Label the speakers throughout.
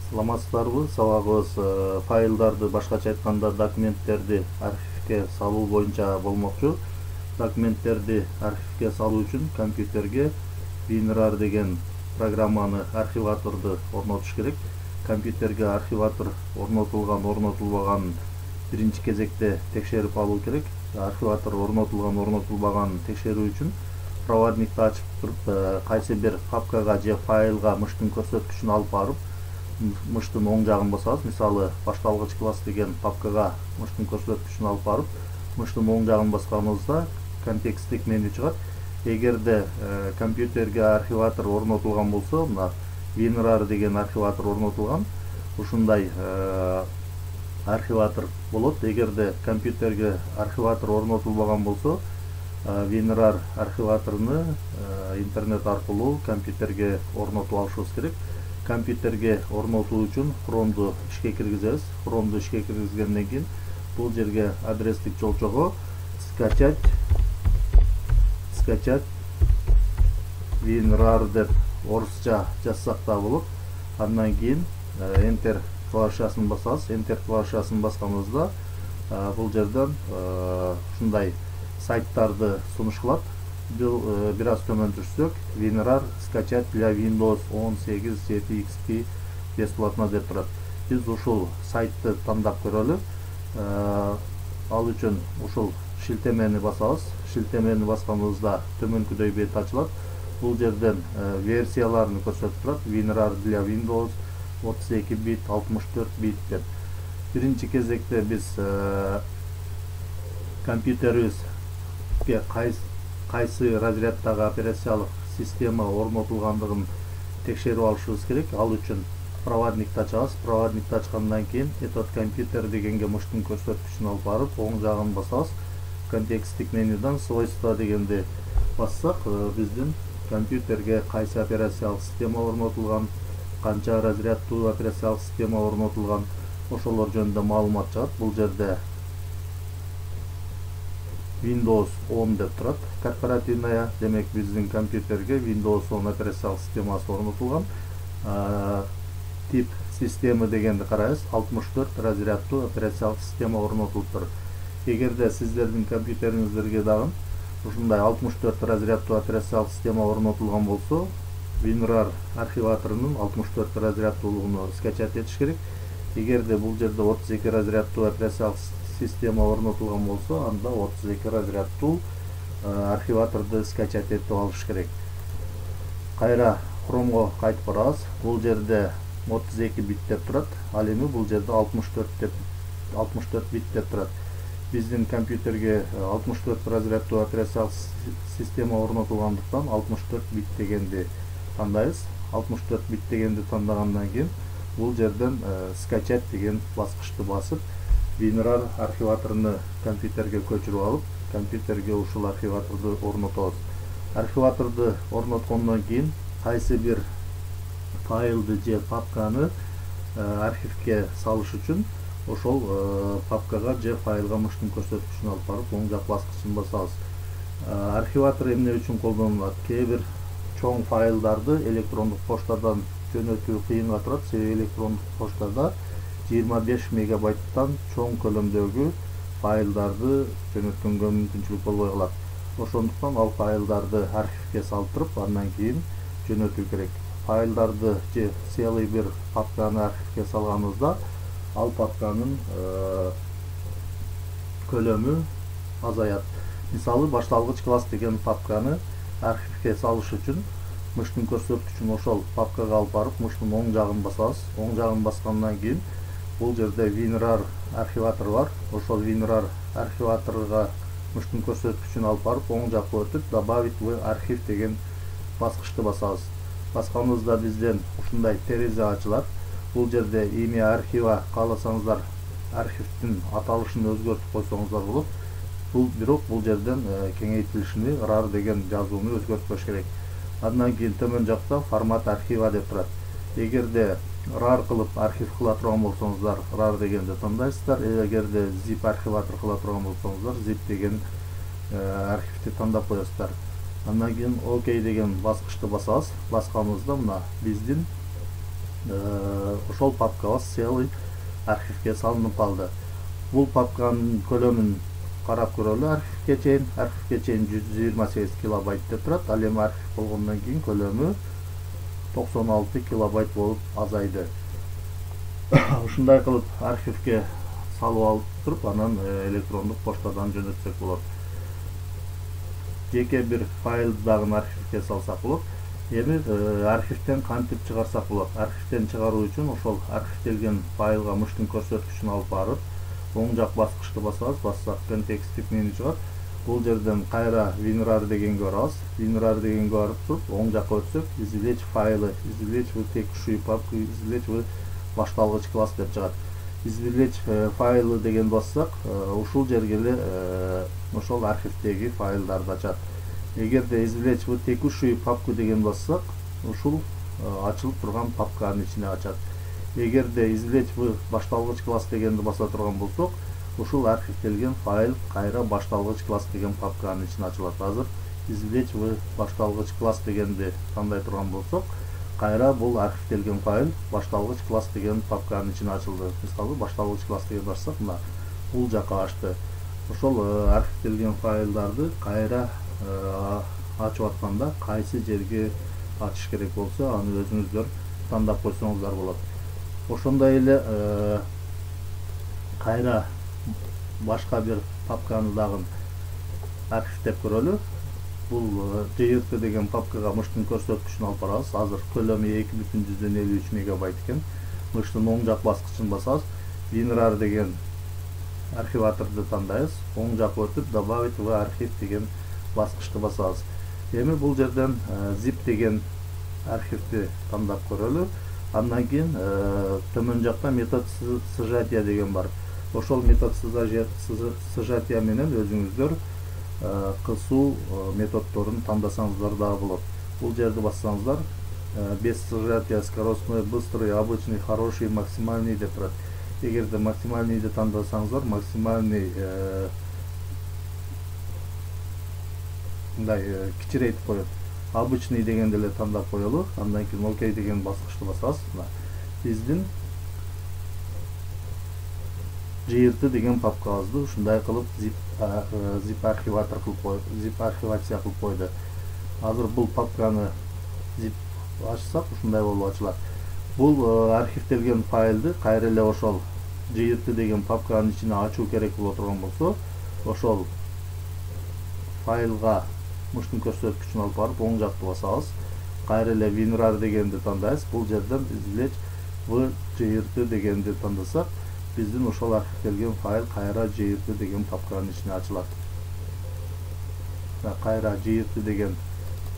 Speaker 1: Саламатсыздарбы? Сабагыбыз файлдарды, башкача айтканда документтерди архивге салуу боюнча болмокчу. Документтерди архивге салуу үчүн компьютерге WinRAR деген программаны, архиваторду орнотуш керек. Компьютерге архиватор орнотулбаганын биринчи кезекте текшерип алуу керек. Архиватор орнотулбаганын текшерүү үчүн проводникти ачып туруп, кайсы бир папкага же файлга мыштын көрсөткүчүн алып барып, мыштын оң жагын басабыз. Мисалы, башталгыч класс деген папкага мыштын көрсөткүчүн алып барып, мыштын оң жагын басканыбызда контексттик меню чыгат. Эгерде компьютерге архиватор орнотулган болсо, мына WinRAR деген архиватор орнотулган, ушундай архиватор болот. Эгерде компьютерге архиватор орнотулбаган болсо, WinRAR архиваторуну интернет аркылуу компьютерге орнотуп алышыбыз керек. Компьютерге орнотуу үчүн Chrome'ду ишке киргизебиз. Chrome'ду ишке киргизгенден кийин бул жерге адрестик жолчого скачать WinRAR деп орусча жазсак да болот. Андан кийин Enter клавишасын басабыз. Enter клавишасын басканыбызда бул жерден ушундай сайттарды сунуш кылат. Бир аз төмөн жүрсөк, WinRAR скачать для Windows 10, 7 XP бесплатно деп турат. Биз ушул сайтты тандап көрөлү. Ал үчүн ушул шилтемени басабыз. Шилтемени басканыбызда төмөнкүдөй бет ачылат. Бул жерден версияларын көрсөтүп турат. WinRAR для Windows 32 бит, 64 бит деп. Биринчи кезекте биз компьютерибизге кайсы разряддагы операциялык система орнотулгандыгын текшерип алышыбыз керек. Ал үчүн проводникти ачабыз. Проводникти ачкандан кийин этот компьютер дегенге мыштын көрсөткүчүн алып барып, оң жагын басабыз. Контексттик менюдан свойства дегенди бассак, биздин компьютерге кайсы операциялык система орнотулган, канча разряддуу операциялык система орнотулган, ошолор жөнүндө маалымат чыгат. Бул жерде Windows 10 деп турат. Корпоративная, демек биздин компьютерге Windows 10 операциялык системасы орнотулган. Тип система дегенди карайбыз. 64 разряддуу операциялык система орнотулуптур. Эгерде сиздердин компьютериңиздерге дагы ушундай 64 разряддуу операциялык система орнотулган болсо, WinRAR архиваторунун 64 разряддуулугуну скачать этиш керек. Эгерде бул жерде 32 разряддуу операциялык система орнотулган болсо, анда 32 разряддуу архиваторду скачать этип алыш керек. Кайра Chrome'го кайтып барабыз. Бул жерде 32 бит деп турат. Ал эми бул жерде 64 бит деп турат. Биздин компьютерге 64 разряддуу операциялык система орнотулгандыктан 64 бит дегенди тандайбыз. 64 бит дегенди тандагандан кийин бул жерден скачать деген баскычты басып, WinRAR архиваторуну компьютерге көчүрүп алып, компьютерге ушул архиваторду орнотобуз. Архиваторду орноткондон кийин кайсы бир файлды же папканы архивге салыш үчүн ошол папкага же файлга мыштын көрсөткүчүн алып барып, оң жак баскычын басабыз. Архиватор эмне үчүн колдонулат? Кээ бир чоң файлдарды электрондук поштадан жөнөтүү кыйынга турат. Себеби электрондук поштада 25 мегабайттан чоң көлөмдөгү файлдарды жөнөткөнгө мүмкүнчүлүк болбой калат. Ошондуктан ал файлдарды архивге салып туруп, андан кийин жөнөтүү керек. Файлдарды же целый бир папканы архивге салганыбызда, ал папканын көлөмү азаят. Мисалы, башталгыч класс деген папканы архивге салыш үчүн мыштын көрсөткүчүн ошол папкага алып барып, мыштын оң жагын басабыз. Оң жагын баскандан кийин бул жерде WinRAR архиватор бар. Ошол WinRAR архиваторуга мыштын көрсөткүчүн алып барып, оң жакка өтүп, добавить в архив деген баскычты басабыз. Басканыбызда бизден ушундай терезе ачылат. Бул жерде имя архива кааласаңыздар архивдин аталышын өзгөртүп койсоңуздар болот. Бирок бул жерден кеңейтилишини RAR деген жазууну өзгөртпөш керек. Андан кийин төмөн жакта формат архива деп турат. Эгерде RAR кылып архив кыла турган болсоңуздар, RAR дегенди тандайсыздар. Эгерде zip архиватор кыла турган болсоңуздар, zip деген архивди тандап коесуздар. Андан кийин OK деген баскычты басабыз. Басканыбызда мына биздин ошол папкабыз целый архивге салынып калды. Бул папканын көлөмүн карап көрөлү. Архивге чейин 128 килобайт деп турат. Ал эми архив болгондон кийин көлөмү 96 килобайт болуп азайды. Ушундай кылып архивге салып алып туруп, анан электрондук поштадан жөнөтсөк болот. Жеке бир файл дагы архивге салсак болот. Эми архивден кантип чыгарсак болот? Архивден чыгаруу үчүн ошол архивделген файлга мыштын көрсөткүчүн алып барып, оң жак баскычты басабыз, бассак контексттик меню чыгат. Бул жерден кайра WinRAR дегенге барабыз. WinRAR дегенге барып туруп, оң жакка өтсөк, извлечь файлы, извлечь в текущую папку, извлечь в башталгыч класс деп чыгат. Извлечь файлы деген бассак, ушул жерге эле ошол архивдеги файлдарды ачат. Эгерде извлечь в текущую папку деген бассак, ушул ачылып турган папканын ичине ачат. Эгерде извлечь в башталгыч класс дегенди баса турган болсок, ушул архивделген файл кайра башталгыч класс деген папканын ичине ачылат. Азыр извлечь в башталгыч класс дегенди тандай турган болсок, кайра бул архивделген файл башталгыч класс деген папканын ичине ачылды. Мисалы, башталгыч класс деген барсак, мына бул жака ачты. Ошол архивделген файлдарды кайра ачып атканда кайсы жерге ачыш керек болсо, аны өзүңүздөр тандап койсоңуздар болот. Ошондой эле кайра башка бир папканы дагы архивдеп көрөлү. Бул JRT деген папкага мыштын көрсөткүчүн алып барабыз. Азыр көлөмү 2,53 мегабайт экен. Мыштын оң жак баскычын басабыз. WinRAR деген архиваторду тандайбыз. Оң жакка өтүп, добавить в архив деген баскычты басабыз. Эми бул жерден zip деген архивди тандап көрөлү. Андан кийин төмөн жакта метод сжатия деген бар. Ошол метод сжатия менен өзүңүздөр кысуу методдорун тандасаңыздар дагы болот. Бул жерди бассаңыздар, без сжатия скоростной, быстрый, обычный, хороший, максимальный деп турат. Эгерде максимальныйды тандасаңыздар, максимальный мындай кичирейтип коет. Обычный дегенди эле тандап коелу. Андан кийин окей деген баскычты басасыз. Биздин JRT деген папкабызды ушундай кылып zip архиватор кылып zip архивация кылып койду. Азыр бул папканы zip ачсак, ушундай болуп ачылат. Бул архивделген файлды кайра эле ошол JRT деген папканын ичине ачуу керек боло турган болсо, ошол файлга мыштын көрсөткүчүн алып барып, оң жакты басабыз. Кайра эле WinRAR дегенди тандайбыз. Бул жерден извлечь в JRT дегенди тандасак, биздин ошол архивделген файл кайра JRT деген папканын ичине ачылат. Кайра JRT деген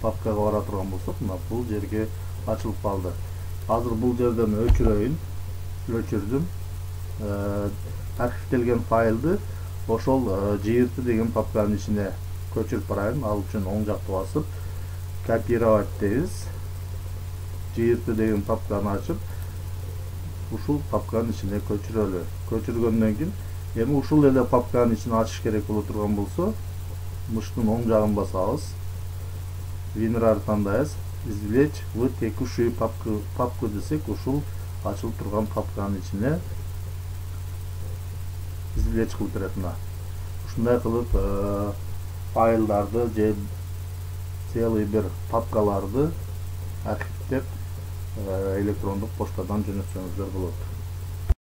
Speaker 1: папкага бара турган болсок, мына бул жерге ачылып калды. Азыр бул жерден өчүрөйүн, өчүрдүм. Архивделген файлды ошол JRT деген папканын ичине көчүрүп барайын. Ал үчүн оң жакты басып, копировать дейбиз. JRT деген папканы ачып, ушул папканын ичине көчүрөлү. Көчүргөндөн кийин, эми ушул эле папканын ичине ачыш керек боло турган болсо, мыштын оң жагын басабыз. WinRAR тандайбыз. Извлечь в текущую папку десек, ушул ачылып турган папканын ичине извлечь кылып берет. Ушундай кылып файлдарды же целый бир папкаларды архивдеп электрондук поштадан жөнөтсөңүздөр болот.